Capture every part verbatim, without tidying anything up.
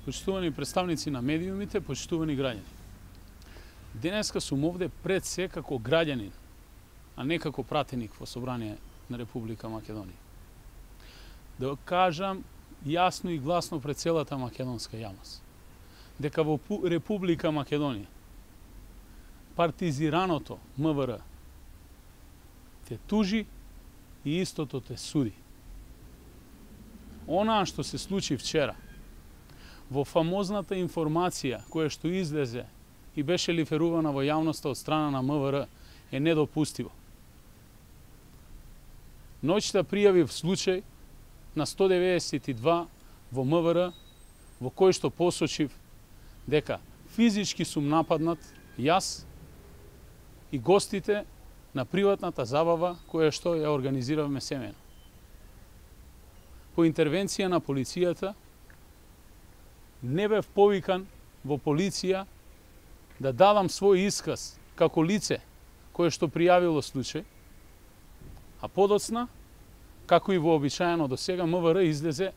почитувани представници на медиумите, почитувани граѓани. Денеска сум овде пред се како граѓанин, а не како пратеник во Собрание на Република Македонија. Да кажам јасно и гласно пред целата македонска јавност, дека во Република Македонија партизираното МВР те тужи и истото те суди. Онаа што се случи вчера, во фамозната информација која што излезе и беше лиферувана во јавноста од страна на МВР, е недопустиво. Ноќта пријавив случај на сто деветдесет и два во МВР, во кој што посочив дека физички сум нападнат јас и гостите на приватната забава која што ја организиравме семејно. По интервенција на полицијата не бев повикан во полиција да дадам свој исказ како лице кое што пријавило случај, а подоцна, како и вообичаено до сега, МВР излезе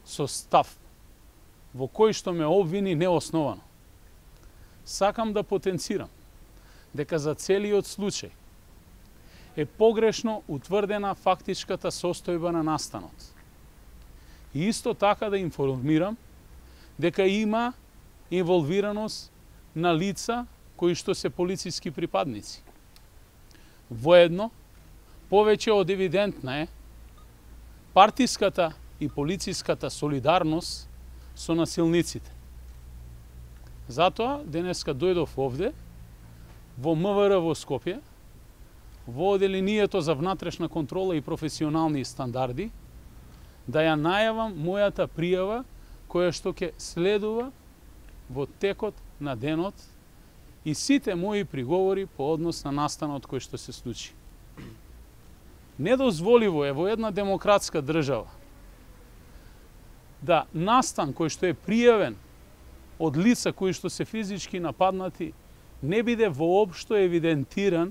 со став во кој што ме обвини неосновано. Сакам да потенцирам дека за целиот случај е погрешно утврдена фактичката состојба на настанот. И исто така да информирам дека има инволвираност на лица кои што се полициски припадници. Воедно, повеќе од евидентна е партиската и полициската солидарност со насилниците. Затоа денеска дојдов овде во МВР во Скопје, во Оделението за внатрешна контрола и професионални стандарди, да ја најавам мојата пријава која што ќе следува во текот на денот и сите мои приговори по однос на настанот кој што се случи. Недозволиво е во една демократска држава да настан кој што е пријавен од лица кои што се физички нападнати не биде воопшто евидентиран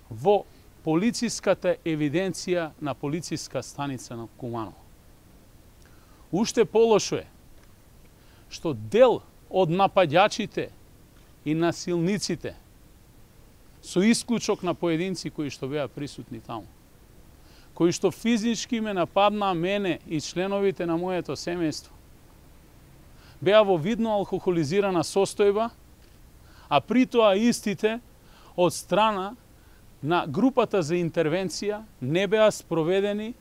во полициската евиденција на полициска станица на Куманово. Уште полошо е што дел од нападјачите и насилниците, со исклучок на поединци кои што беа присутни таму, кои што физички ме нападнаа мене и членовите на моето семејство, беа во видно алкохолизирана состојба, а при тоа истите од страна на групата за интервенција не беа спроведени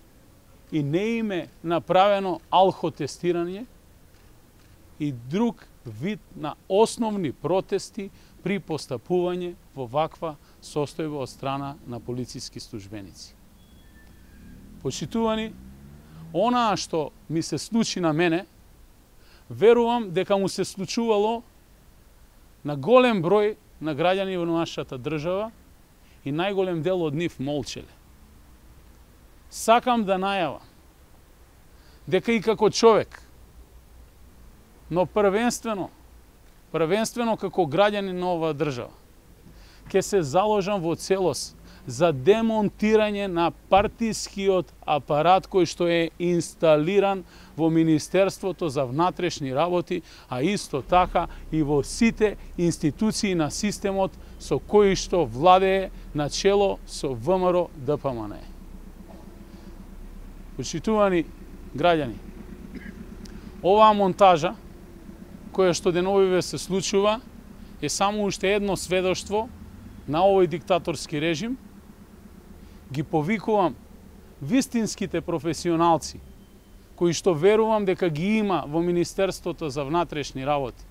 и не им е направено алкотестирање и друг вид на основни протести при постапување во ваква состојба од страна на полициски службеници. Почитувани, онаа што ми се случи на мене, верувам дека му се случувало на голем број на граѓани во нашата држава и најголем дел од нив молчеле. Сакам да најавам дека и како човек, но првенствено, првенствено како граѓанин на оваа држава, ќе се заложам во целост за демонтирање на партискиот апарат кој што е инсталиран во Министерството за внатрешни работи, а исто така и во сите институции на системот со кои што владее начело со ВМРО Д П М Н. Почитувани граѓани, оваа монтажа која што деновиве се случува е само уште едно сведоштво на овој диктаторски режим. Ги повикувам вистинските професионалци кои што верувам дека ги има во Министерството за внатрешни работи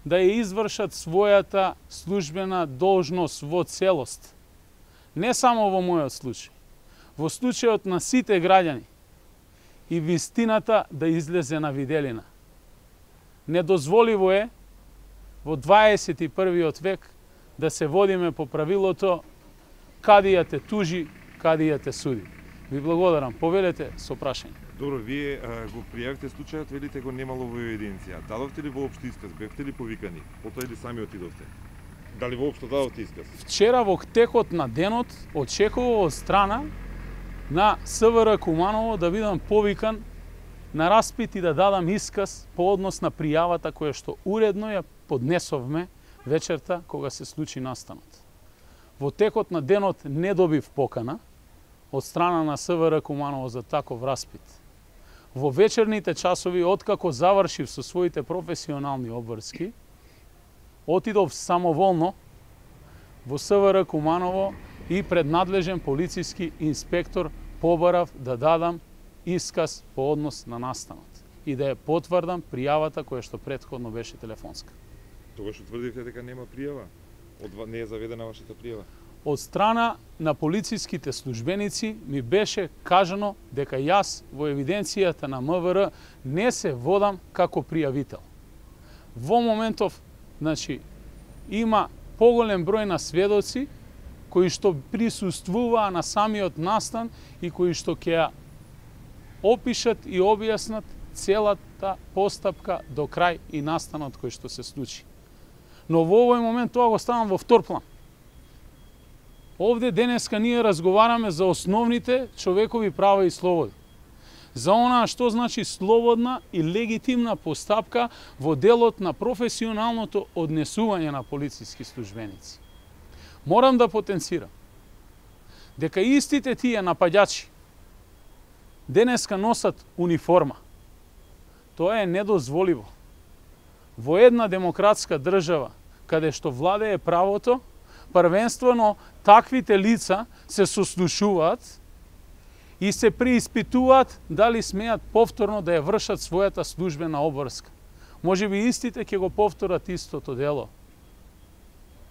да ја извршат својата службена должност во целост. Не само во мојот случај, во случајот на сите граѓани и вистината да излезе на виделина. Недозволиво е во дваесет и првиот век да се водиме по правилото кадија те тужи, кадија те суди. Ви благодарам. Повелете со прашање. Добро, вие а, го пријавите случајот, велите го немало во евиденција. Дадовте ли воопшто исказ? Бевте ли повикани? Потоа или сами отидовте? Дали воопшто дадовте исказ? Вчера во текот на денот очекував од страна на С В Р Куманово да бидам повикан на распит и да дадам исказ по однос на пријавата која што уредно ја поднесовме вечерта кога се случи настанот. Во текот на денот не добив покана од страна на СВР Куманово за таков распит. Во вечерните часови, откако завршив со своите професионални обврски, отидов самоволно во СВР Куманово и пред надлежен полициски инспектор побарав да дадам исказ по однос на настанот и да ја потврдам пријавата која што претходно беше телефонска. Тогаш утврдивте дека нема пријава? Од не е заведена вашата пријава? Од страна на полициските службеници ми беше кажано дека јас во евиденцијата на МВР не се водам како пријавител. Во моментов, значи, има поголем број на сведоци кои што присуствуваа на самиот настан и кои што ќе ја опишат и објаснат целата постапка до крај и настанот кој што се случи. Но во овој момент тоа го ставам во втор план. Овде денеска ние разговараме за основните човекови права и слободи. За онаа што значи слободна и легитимна постапка во делот на професионалното однесување на полициски службеници. Морам да потенцирам дека истите тие напаѓачи денеска носат униформа. Тоа е недозволиво. Во една демократска држава, каде што владее правото, првенствено таквите лица се сослушуваат и се преиспитуваат дали смеат повторно да ја вршат својата службена обврска. Може би истите ќе го повторат истото дело.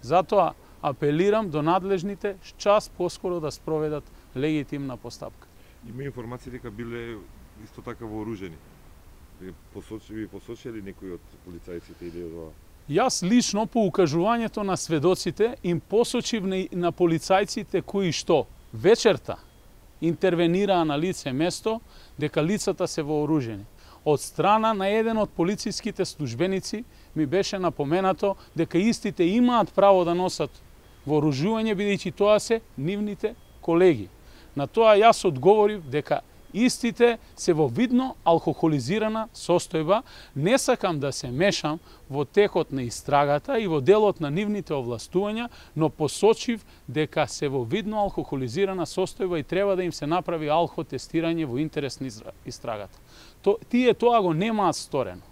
Затоа апелирам до надлежните час поскоро да спроведат легитимна постапка. Има информации дека биле исто така вооружени. Ви посочи, посочили некои од полицајците или од ова? Јас лично по укажувањето на сведоците им посочив на, на полицајците кои што вечерта интервенираа на лице место дека лицата се вооружени. Од страна на еден од полициските службеници ми беше напоменато дека истите имаат право да носат вооружување бидејќи тоа се нивните колеги. На тоа јас одговорив дека истите се во видно алкохолизирана состојба, не сакам да се мешам во текот на истрагата и во делот на нивните овластувања, но посочив дека се во видно алкохолизирана состојба и треба да им се направи алкотестирање во интерес на истрагата. То, тие тоа го немаат сторено.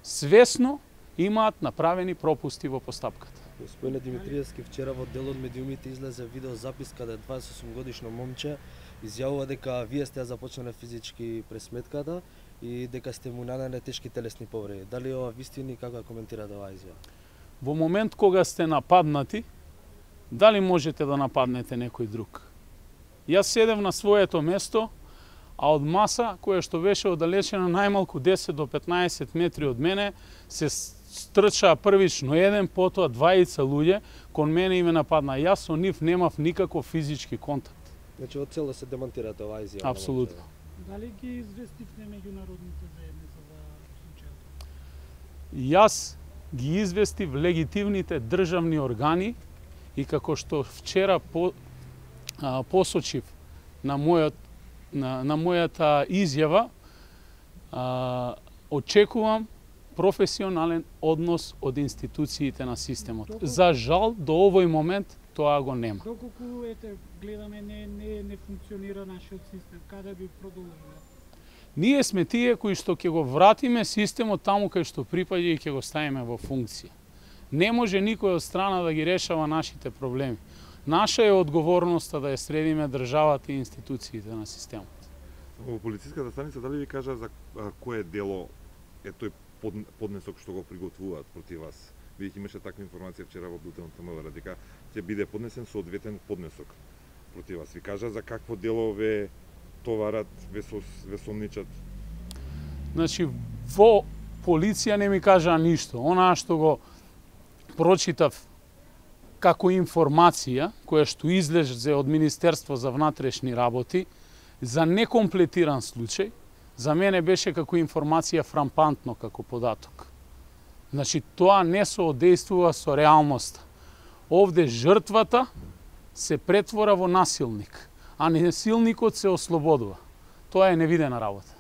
Свесно имаат направени пропусти во постапката. Господине Димитриевски, вчера во делот медиумите излезе видеозапис каде дваесет и осум годишно момче изјавува дека вие сте ја започнале физички пресметката и дека сте му нанеле тешки телесни повреди. Дали ова вистини, како ја коментирате оваа изјава? Во момент кога сте нападнати, дали можете да нападнете некој друг? Јас седев на своето место, а од маса која што беше оддалечена најмалку десет до петнаесет метри од мене, се стрчаа првично еден, потоа дваица луѓе, кон мене и ме нападна. Јас со нив немав никаков физички контакт. Значи, од цело се демонтирате оваа изјава? Апсолутно. Дали ги известивте меѓународните заедница за случајот? Јас ги известив легитимните државни органи и како што вчера по, а, посочив на мојот на, на мојата изјава, а, очекувам професионален однос од институциите на системот. Доколку... За жал, до овој момент тоа го нема. Доколку ете гледаме не не не функционира нашиот систем, каде би продолжило? Ние сме тие кои што ќе го вратиме системот таму кај што припаѓа и ќе го ставиме во функција. Не може никој од страна да ги решава нашите проблеми. Наша е одговорноста да ја средиме државата и институциите на системот. Во полициската станица дали ви кажа за а, кое дело е тој под, поднесок што го приготвуваат против вас? Бидејќи имаше таква информација вчера во билтенот на МВР дека ќе биде поднесен соодветен поднесок против вас. Ви кажа за какво дело ве товарат, ве, сос, ве сомничат? Значи, во полиција не ми кажа ништо. Онаа што го прочитав како информација, која што излезе од Министерство за внатрешни работи, за некомплетиран случај, за мене беше како информација фрампантно како податок. Значи, тоа не соодействува со реалноста. Овде жртвата се претвора во насилник, а насилникот се ослободува. Тоа е невидена работа.